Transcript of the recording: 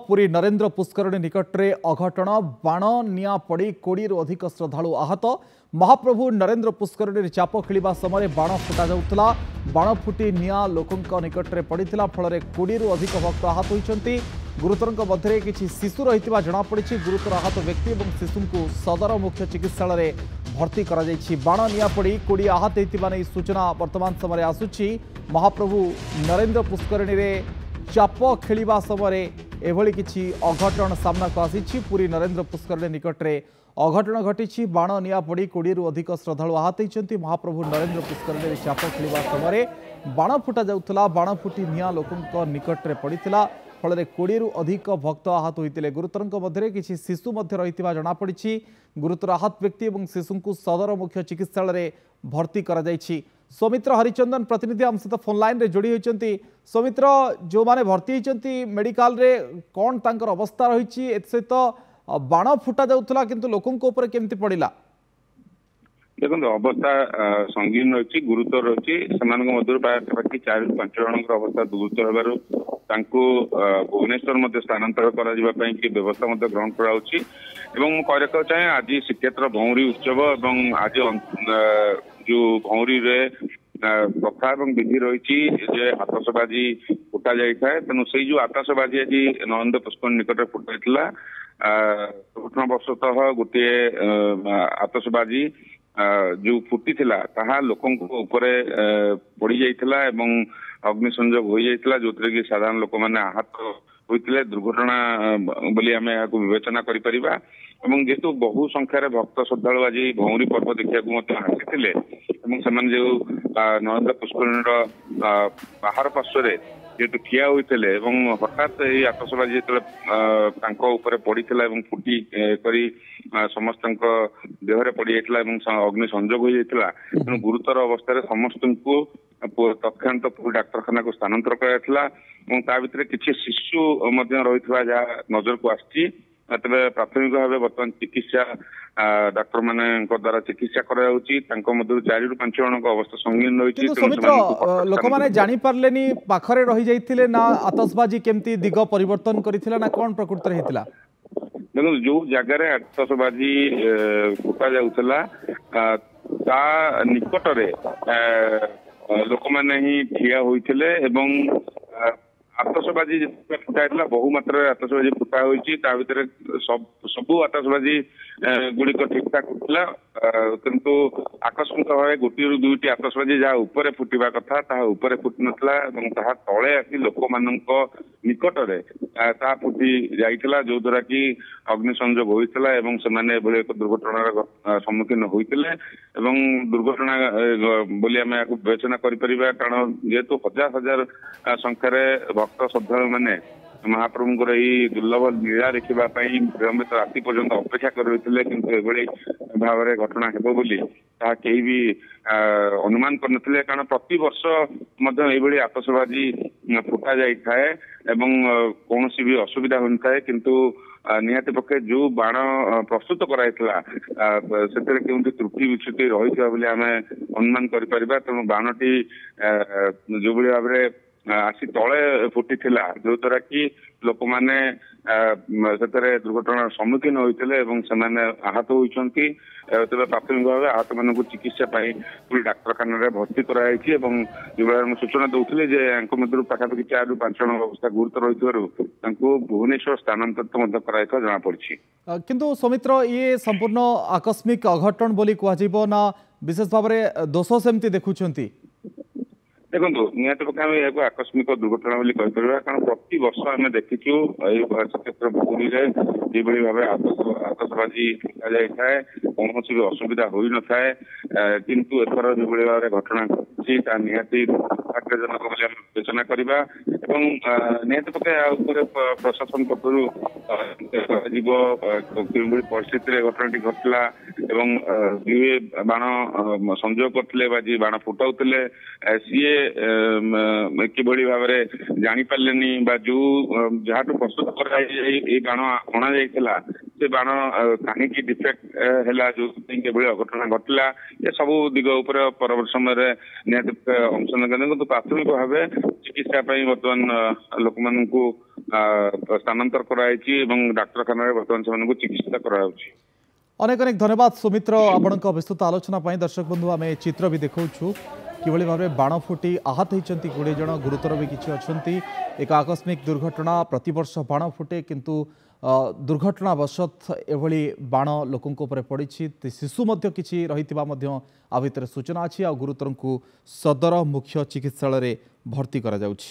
ପୁରୀ ନରେନ୍ଦ୍ର ପୁଷ୍କରିଣୀ ନିକଟରେ ଅଘଟଣ। ବାଣ ନିଆଁ ପଡ଼ି 20ରୁ ଅଧିକ ଶ୍ରଦ୍ଧାଳୁ ଆହତ। ମହାପ୍ରଭୁ ନରେନ୍ଦ୍ର ପୁଷ୍କରିଣୀରେ ଚାପ ଖେଳିବା ସମୟରେ ବାଣ ଫୁଟା ଯାଉଥିଲା। ବାଣ ଫୁଟି ନିଆଁ ଲୋକଙ୍କ ନିକଟରେ ପଡ଼ିଥିଲା। ଫଳରେ 20ରୁ ଅଧିକ ଭକ୍ତ ଆହତ ହୋଇଛନ୍ତି। ଗୁରୁତରଙ୍କ ମଧ୍ୟରେ କିଛି ଶିଶୁ ରହିଥିବା ଜଣାପଡ଼ିଛି। ଗୁରୁତର ଆହତ ବ୍ୟକ୍ତି ଏବଂ ଶିଶୁଙ୍କୁ ସଦର ମୁଖ୍ୟ ଚିକିତ୍ସାଳୟରେ ଭର୍ତ୍ତି କରାଯାଇଛି। ବାଣ ନିଆଁ ପଡ଼ି 20 ଆହତ ହୋଇଥିବା ନେଇ ସୂଚନା ବର୍ତ୍ତମାନ ସମୟରେ ଆସୁଛି। ମହାପ୍ରଭୁ ନରେନ୍ଦ୍ର ପୁଷ୍କରିଣୀରେ ଚାପ ଖେଳିବା ସମୟରେ ଏଭଳି କିଛି ଅଘଟଣ ସାମ୍ନାକୁ ଆସିଛି। ପୁରୀ ନରେନ୍ଦ୍ର ପୁଷ୍କରିଣୀ ନିକଟରେ ଅଘଟଣ ଘଟିଛି। ବାଣ ନିଆଁ ପଡ଼ି 20ରୁ ଅଧିକ ଶ୍ରଦ୍ଧାଳୁ ଆହତ ହୋଇଛନ୍ତି। ମହାପ୍ରଭୁ ନରେନ୍ଦ୍ର ପୁଷ୍କରିଣୀରେ ଚାପ ଖେଳିବା ସମୟରେ ବାଣ ଫୁଟା ଯାଉଥିଲା। ବାଣ ଫୁଟି ନିଆଁ ଲୋକଙ୍କ ନିକଟରେ ପଡ଼ିଥିଲା। ଫଳରେ 20ରୁ ଅଧିକ ଭକ୍ତ ଆହତ ହୋଇଥିଲେ। ଗୁରୁତରଙ୍କ ମଧ୍ୟରେ କିଛି ଶିଶୁ ମଧ୍ୟ ରହିଥିବା ଜଣାପଡ଼ିଛି। ଗୁରୁତର ଆହତ ବ୍ୟକ୍ତି ଏବଂ ଶିଶୁଙ୍କୁ ସଦର ମୁଖ୍ୟ ଚିକିତ୍ସାଳୟରେ ଭର୍ତ୍ତି କରାଯାଇଛି। ସୌମିତ୍ର ହରିଚନ୍ଦନ ପ୍ରତିନିଧି ଆମ ସହିତ ଫୋନ୍ ଲାଇନ୍ରେ ଯୋଡ଼ି ହୋଇଛନ୍ତି। ସୌମିତ୍ର, ଯେଉଁମାନେ ଭର୍ତ୍ତି ହୋଇଛନ୍ତି ମେଡିକାଲରେ, କ'ଣ ତାଙ୍କର ଅବସ୍ଥା ରହିଛି? ଏଥିସହିତ ବାଣ ଫୁଟା ଯାଉଥିଲା, କିନ୍ତୁ ଲୋକଙ୍କ ଉପରେ କେମିତି ପଡ଼ିଲା? ଦେଖନ୍ତୁ, ଅବସ୍ଥା ସଙ୍ଗୀନ ରହିଛି, ଗୁରୁତର ରହିଛି। ସେମାନଙ୍କ ମଧ୍ୟରୁ ପାଖାପାଖି 4ରୁ 5 ଜଣଙ୍କର ଅବସ୍ଥା ଗୁରୁତର ହେବାରୁ ତାଙ୍କୁ ଭୁବନେଶ୍ୱର ମଧ୍ୟ ସ୍ଥାନାନ୍ତର କରାଯିବା ପାଇଁ କି ବ୍ୟବସ୍ଥା ମଧ୍ୟ ଗ୍ରହଣ କରାଯାଉଛି। ଏବଂ ମୁଁ କହି ରଖିବାକୁ ଚାହେଁ, ଆଜି ଶ୍ରୀକ୍ଷେତ୍ର ଭଉଁରୀ ଉତ୍ସବ ଏବଂ ଆଜି ଯୋଉ ଭଉଁରୀରେ ପ୍ରଥା ଏବଂ ବିଧି ରହିଛି ଯେ ଆତସବାଜି ଫୁଟା ଯାଇଥାଏ, ତେଣୁ ସେଇ ଯୋଉ ଆତସବାଜି ଆଜି ନରେନ୍ଦ୍ର ପୁଷ୍କରିଣୀ ନିକଟରେ ଫୁଟାଯାଇଥିଲା, ଦୁର୍ଘଟଣାବଶତଃ ଗୋଟିଏ ଆତସବାଜି ଯୋଉ ଫୁଟିଥିଲା ତାହା ଲୋକଙ୍କ ଉପରେ ପଡି ଯାଇଥିଲା ଏବଂ ଅଗ୍ନି ସଂଯୋଗ ହୋଇଯାଇଥିଲା, ଯୋଉଥିରେ କି ସାଧାରଣ ଲୋକମାନେ ଆହତ ହୋଇଥିଲେ। ଦୁର୍ଘଟଣା ବୋଲି ଆମେ ଏହାକୁ ବିବେଚନା କରିପାରିବା। ଏବଂ ଯେହେତୁ ବହୁ ସଂଖ୍ୟାରେ ଭକ୍ତ ଶ୍ରଦ୍ଧାଳୁ ଆଜି ଭଉଁରୀ ପର୍ବ ଦେଖିବାକୁ ମଧ୍ୟ ଆସିଥିଲେ ଏବଂ ସେମାନେ ଯୋଉ ନରେନ୍ଦ୍ର ପୁଷ୍କରିଣୀର ବାହାର ପାର୍ଶ୍ୱରେ ଯେହେତୁ ଠିଆ ହୋଇଥିଲେ ଏବଂ ହଠାତ୍ ଏଇ ଆତସବାଜି ଯେତେବେଳେ ତାଙ୍କ ଉପରେ ପଡିଥିଲା ଏବଂ ଫୁଟି କରି ସମସ୍ତଙ୍କ ଦେହରେ ପଡିଯାଇଥିଲା ଏବଂ ଅଗ୍ନି ସଂଯୋଗ ହୋଇଯାଇଥିଲା, ତେଣୁ ଗୁରୁତର ଅବସ୍ଥାରେ ସମସ୍ତଙ୍କୁ ତତ୍କ୍ଷଣାତ ପୁରୀ ଡାକ୍ତରଖାନାକୁ ସ୍ଥାନାନ୍ତର କରାଯାଇଥିଲା। ଏବଂ ତା ଭିତରେ କିଛି ଶିଶୁ ମଧ୍ୟ ରହିଥିବା ଯାହା ନଜରକୁ ଆସିଛି। ତେବେ ପ୍ରାଥମିକ ଭାବେ ବର୍ତ୍ତମାନ ଚିକିତ୍ସା ଡାକ୍ତରମାନଙ୍କ ଦ୍ଵାରା ଚିକିତ୍ସା କରାଯାଉଛି। ତାଙ୍କ ମଧ୍ୟରୁ 4ରୁ 5 ଜଣଙ୍କ ଅବସ୍ଥା ସଙ୍ଗୀନ ରହିଛି। ସୌମିତ୍ର, ଲୋକମାନେ ଜାଣିପାରିଲେନି, ପାଖରେ ରହିଯାଇଥିଲେ ନା ଆତସବାଜି କେମିତି ଦିଗ ପରିବର୍ତ୍ତନ କରିଥିଲା ନା କଣ ପ୍ରକୃତରେ ହେଇଥିଲା? ଦେଖନ୍ତୁ, ଯୋଉ ଜାଗାରେ ଆତସବାଜି ଫୁଟା ଯାଉଥିଲା ତା ନିକଟରେ ଲୋକମାନେ ହିଁ ଠିଆ ହୋଇଥିଲେ ଏବଂ ଆତସବାଜି ଯେତେବେଳେ ଫୁଟା ହେଇଥିଲା, ବହୁ ମାତ୍ରାରେ ଆତସବାଜି ଫୁଟା ହୋଇଛି। ତା ଭିତରେ ସବୁ ଆତସବାଜି ଗୁଡିକ ଠିକ ଠାକ ଥିଲା, କିନ୍ତୁ ଆକସ୍ମିକ ଭାବେ ଗୋଟିଏରୁ ଦୁଇଟି ଆତସବାଜି ଯାହା ଉପରେ ଫୁଟିବା କଥା ତାହା ଉପରେ ଫୁଟି ନଥିଲା ଏବଂ ତାହା ତଳେ ଆସି ଲୋକମାନଙ୍କ ନିକଟରେ ତାହା ଫୁଟି ଯାଇଥିଲା, ଯୋଉ ଦ୍ୱାରା କି ଅଗ୍ନି ସଂଯୋଗ ହୋଇଥିଲା ଏବଂ ସେମାନେ ଏଭଳି ଏକ ଦୁର୍ଘଟଣାର ସମ୍ମୁଖୀନ ହୋଇଥିଲେ। ଏବଂ ଦୁର୍ଘଟଣା ବୋଲି ଆମେ ଏହାକୁ ବିବେଚନା କରିପାରିବା, କାରଣ ଯେହେତୁ ହଜାର ହଜାର ସଂଖ୍ୟାରେ ଭକ୍ତ ଶ୍ରଦ୍ଧାଳୁ ମାନେ ମହାପ୍ରଭୁଙ୍କର ଏଇ ଦୁର୍ଲଭ ଲୀଳା ଦେଖିବା ପାଇଁ ବିଳମ୍ବିତ ରାତି ପର୍ଯ୍ୟନ୍ତ ଅପେକ୍ଷା କରି ରହିଥିଲେ, କିନ୍ତୁ ଏଭଳି ଭାବରେ ଘଟଣା ହେବ ବୋଲି ତାହା କେହି ବି ଅନୁମାନ କରିନଥିଲେ। କାରଣ ପ୍ରତିବର୍ଷ ମଧ୍ୟ ଏଇଭଳି ଆତସବାଜି ଫୁଟା ଯାଇଥାଏ ଏବଂ କୌଣସି ବି ଅସୁବିଧା ହୋଇନଥାଏ, କିନ୍ତୁ ନିହାତି ପକ୍ଷେ ଯୋଉ ବାଣ ପ୍ରସ୍ତୁତ କରାଯାଇଥିଲା ସେଥିରେ କେଉଁଠି ତ୍ରୁଟି ବିଚ୍ୟୁତି ରହିଥିବା ବୋଲି ଆମେ ଅନୁମାନ କରିପାରିବା। ତେଣୁ ବାଣଟି ଯୋଉଭଳି ଭାବରେ ଆସି ତଳେ ଫୁଟିଥିଲା, ଯୋଉ ଦ୍ୱାରା କି ଲୋକମାନେ ସେଥିରେ ଦୁର୍ଘଟଣାର ସମ୍ମୁଖୀନ ହୋଇଥିଲେ ଏବଂ ସେମାନେ ଆହତ ହୋଇଛନ୍ତି। ତେବେ ପ୍ରାଥମିକ ଭାବେ ଆହତ ମାନଙ୍କୁ ଚିକିତ୍ସା ପାଇଁ ପୁରୀ ଡାକ୍ତରଖାନାରେ ଭର୍ତ୍ତି କରାଯାଇଛି। ଏବଂ ଯେଉଁଭଳି ମୁଁ ସୂଚନା ଦଉଥିଲି ଯେ ୟାଙ୍କ ମଧ୍ୟରୁ ପାଖାପାଖି 4ରୁ 5 ଜଣଙ୍କ ଅବସ୍ଥା ଗୁରୁତର ରହିଥିବାରୁ ତାଙ୍କୁ ଭୁବନେଶ୍ୱର ସ୍ଥାନାନ୍ତରିତ ମଧ୍ୟ କରାଯାଇଥିବା ଜଣାପଡିଛି। କିନ୍ତୁ ସୌମିତ୍ର, ଇଏ ସମ୍ପୂର୍ଣ୍ଣ ଆକସ୍ମିକ ଅଘଟଣ ବୋଲି କୁହାଯିବ ନା ବିଶେଷ ଭାବରେ ଦୋଷ ସେମିତି ଦେଖୁଛନ୍ତି? ଦେଖନ୍ତୁ, ନିହାତି ପକ୍ଷେ ଆମେ ଏହାକୁ ଆକସ୍ମିକ ଦୁର୍ଘଟଣା ବୋଲି କହିପାରିବା, କାରଣ ପ୍ରତିବର୍ଷ ଆମେ ଦେଖିଛୁ ଏଇ ଶ୍ରୀକ୍ଷେତ୍ର ପୁରୀରେ ଯେଭଳି ଭାବେ ଆତସବାଜି ଫୁଟା ଯାଇଥାଏ, କୌଣସି ବି ଅସୁବିଧା ହୋଇନଥାଏ। କିନ୍ତୁ ଏଥର ଯେଭଳି ଭାବରେ ଘଟଣା ଘଟିଛି ତାହା ନିହାତି ଦୁର୍ଭାଗ୍ୟଜନକ ବୋଲି ଆମେ ବିବେଚନା କରିବା। ଏବଂ ନିହାତି ପକ୍ଷେ ଏହା ଉପରେ ପ୍ରଶାସନ ପକ୍ଷରୁ କରାଯିବ, କେଉଁଭଳି ପରିସ୍ଥିତିରେ ଘଟଣାଟି ଘଟିଲା ଏବଂ ଯିଏ ବାଣ ସଂଯୋଗ କରିଥିଲେ ବା ଯିଏ ବାଣ ଫୁଟାଉଥିଲେ ସିଏ କିଭଳି ଭାବରେ ଜାଣିପାରିଲେନି, ବା ଯୋଉ ଯାହାଠୁ ପ୍ରସ୍ତୁତ କରାଯାଇ ଏଇ ବାଣ ଅଣାଯାଇଥିଲା ସେ ବାଣ କାହିଁକି ଡିଫେକ୍ଟ ହେଲା, ଯୋଉଥିପାଇଁ ଏଭଳି ଅଘଟଣା ଘଟିଲା, ଏସବୁ ଦିଗ ଉପରେ ପରବର୍ତ୍ତୀ ସମୟରେ ନିହାତି ଅନୁସନ୍ଧାନ। କିନ୍ତୁ ପ୍ରାଥମିକ ଭାବେ ଚିକିତ୍ସା ପାଇଁ ବର୍ତ୍ତମାନ ଲୋକମାନଙ୍କୁ ସ୍ଥାନାନ୍ତର କରାଯାଇଛି ଏବଂ ଡାକ୍ତରଖାନାରେ ବର୍ତ୍ତମାନ ସେମାନଙ୍କୁ ଚିକିତ୍ସା କରାଯାଉଛି। ଅନେକ ଅନେକ ଧନ୍ୟବାଦ ସୁମିତ୍ର ଆପଣଙ୍କ ବିସ୍ତୃତ ଆଲୋଚନା ପାଇଁ। ଦର୍ଶକ ବନ୍ଧୁ, ଆମେ ଚିତ୍ର ବି ଦେଖାଉଛୁ କିଭଳି ଭାବେ ବାଣ ଫୁଟି ଆହତ ହୋଇଛନ୍ତି 20 ଜଣ, ଗୁରୁତର ବି କିଛି ଅଛନ୍ତି। ଏକ ଆକସ୍ମିକ ଦୁର୍ଘଟଣା, ପ୍ରତିବର୍ଷ ବାଣ ଫୁଟେ କିନ୍ତୁ ଦୁର୍ଘଟଣାବଶତ ଏଭଳି ବାଣ ଲୋକଙ୍କ ଉପରେ ପଡ଼ିଛି। ଶିଶୁ ମଧ୍ୟ କିଛି ରହିଥିବା ମଧ୍ୟ ଆ ଭିତରେ ସୂଚନା ଅଛି। ଆଉ ଗୁରୁତରଙ୍କୁ ସଦର ମୁଖ୍ୟ ଚିକିତ୍ସାଳୟରେ ଭର୍ତ୍ତି କରାଯାଉଛି।